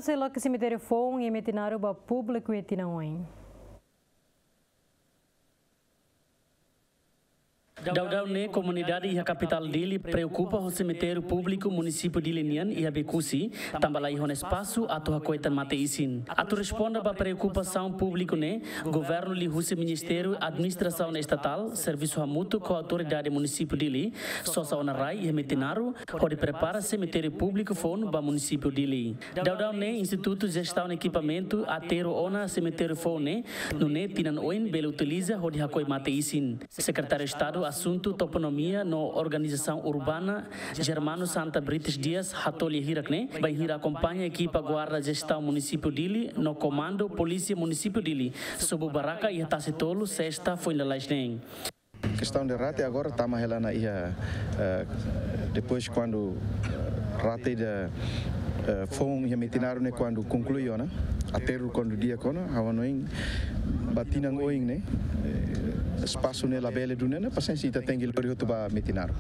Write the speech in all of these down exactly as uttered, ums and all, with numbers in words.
Sei loke semitériu foun iha Metinaro ba públiku iha tinan oin. Daudaun ne'e komunidade iha kapitál Dili preokupa ho semitériu públiku munisípiu Dili nian iha Becusse, tanba laiha ona espasu atu hakoi tan mate-isin. Atu responde ba preokupasaun públiku ne'e, governu liuhusi Ministériu Administrasaun Estatál servisu hamutuk ho autoridade munisípiu Dili, sosa ona rai iha Metinaro, hodi prepara semitériu públiku foun ba munisípiu Dili. Daudaun ne'e Institutu Jestaun Ekipamentu aterru ona semitériu foun ne'e, nune'e tinan oin bele utiliza hodi hakoi mate-isin. Sekretáriu Estadu Asuntu Toponímia no Organizasaun Urbana, Germano Santa Brites Dias, hatoli hirak ne'e, bainhira akompaña ekipa Guarda Jestaun Munisípiu Dili no Komandu Polísia Munisípiu Dili, sobu barraka iha Tasi Tolu, sesta foin lalais ne'e. Kestaun de rate agora tama hela ona iha, eh, depois kuandu, eh, rate ida, eh, foun iha Metinaro ne'e kuandu konklui ona, aterru kuandu di'ak ona, ha'u hanoin ba tinan oin ne'e, eh, espasu ne'e labele duni ona, pasiénsia ita tenke lori hotu ba Metinaro.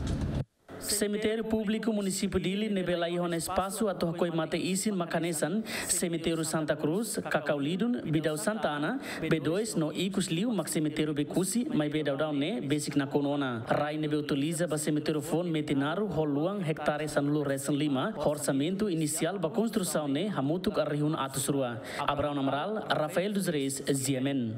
Semitériu públiku munisípiu Dili ne'ebé laiha ona espasu atu hakoi mate-isin mak hanesan semitériu Santa Cruz, Cacau Lidun, Bidau Santa Ana, B dois no ikus liu mak semitériu Becusse, maibé daudaun ne'e besik nakonu ona. Rai ne'ebé utiliza ba semitériu foun Metinaro ho luan ektare sanulu-resin-lima, ho orsamentu inisiál ba konstrusaun ne'e hamutuk rihun atus rua. Abraão Amaral, Rafael dos Reis, G M N.